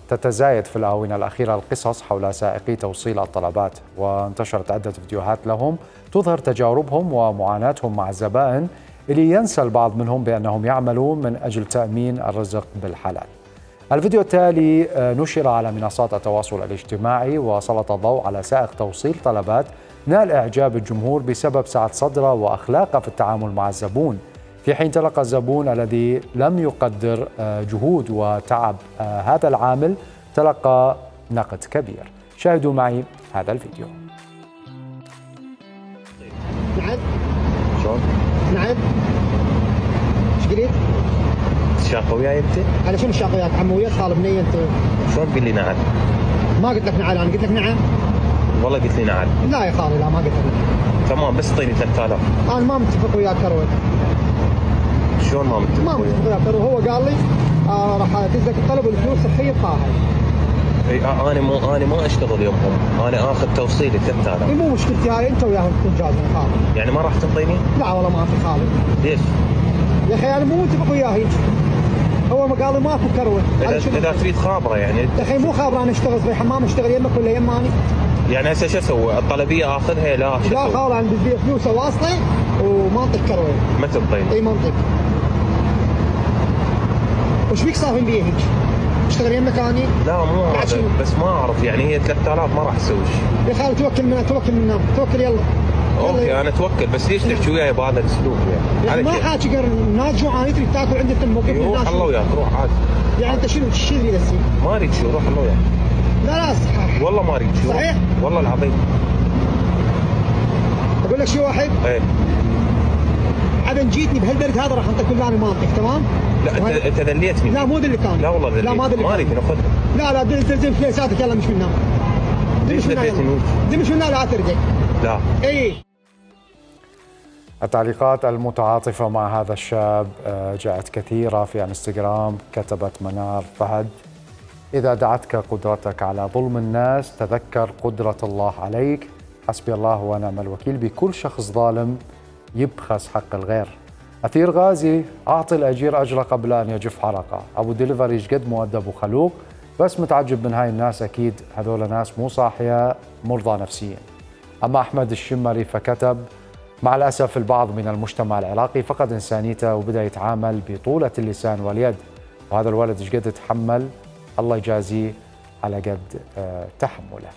تتزايد في الآونة الأخيرة القصص حول سائقي توصيل الطلبات، وانتشرت عدة فيديوهات لهم تظهر تجاربهم ومعاناتهم مع الزبائن اللي ينسى البعض منهم بأنهم يعملون من أجل تأمين الرزق بالحلال. الفيديو التالي نشر على منصات التواصل الاجتماعي وسلط الضوء على سائق توصيل طلبات نال إعجاب الجمهور بسبب سعة صدره وأخلاقه في التعامل مع الزبون، في حين تلقى الزبون الذي لم يقدر جهود وتعب هذا العامل تلقى نقد كبير. شاهدوا معي هذا الفيديو. نعم شلون؟ نعم ايش قلت؟ تشاقى وياي انت؟ على شنو الشاق وياك عمو؟ وياك خالد بنيه انت؟ شلون تقول لي نعم؟ ما قلت لك نعم، انا قلت لك نعم؟ والله قلت لي نعم. لا يا خالد لا ما قلت لك نعم. تمام بس اعطيني 3000. انا ما متفق وياك كروت. شلون ما متفق ما وياك؟ متفق وياك كروت، هو قال لي راح ادز لك الطلب والفلوس صحيه بطاها. اي انا ما اشتغل يومهم، انا اخذ توصيلي 3000. مو مشكلتي هاي، انت وياهم تكون جازم خالد. يعني ما راح تعطيني؟ لا والله ما اعطي خالد. ليش؟ يا اخي انا مو متفق وياه هيك. هو ما قال لي ماكو كروت. اذا تريد خابره يعني. يا اخي مو خابره، انا اشتغل في حمام، اشتغل يمك ولا يماني؟ يعني هسه شو اسوي؟ الطلبيه اخذها؟ لا شو لا خالد انا بدي فلوسه واصله وما اعطيك كروت. ما تعطيني؟ اي ما اعطيك. وش بيك صافين بيه هيك؟ اشتغل يمك اني؟ لا مو هذا، بس ما اعرف يعني هي 3000 ما راح اسوي شيء. يا خالد توكل منا توكل يلا. اوكي انا اتوكل، بس ليش تحكي وياي بهذا الاسلوب يعني؟ ما حاكي غير الناس جوعان تريد تاكل عندك موقف. روح الله وياك، روح عادي. يعني انت شنو تريد هسه؟ ما اريد شو، روح الله وياك. لا صحيح والله ما اريد شو. صحيح؟ والله العظيم. اقول لك شيء واحد؟ ايه عدن جيتني بهالبرد هذا راح انطيك كل انا منطق تمام؟ لا انت ذليتني. لا مو ذليتني. لا والله ذليتني. لا ما ذليتني. ما اريد ناخذها. لا دزم فليساتك يلا مش منا. ليش ذليتني؟ مش منا لا ترجع. لا. اي. التعليقات المتعاطفة مع هذا الشاب جاءت كثيرة في انستغرام. كتبت منار فهد: إذا دعتك قدرتك على ظلم الناس تذكر قدرة الله عليك، حسبي الله ونعم الوكيل بكل شخص ظالم يبخس حق الغير. أثير غازي: أعطي الأجير أجره قبل أن يجف حرقه. أبو ديليفري جد مؤدب وخلوق، بس متعجب من هاي الناس، أكيد هذول ناس مو صاحية مرضى نفسيا. أما أحمد الشمري فكتب: مع الأسف البعض من المجتمع العراقي فقد إنسانيته وبدأ يتعامل بطولة اللسان واليد، وهذا الولد ايش قد تحمل، الله يجازيه على قد تحمله.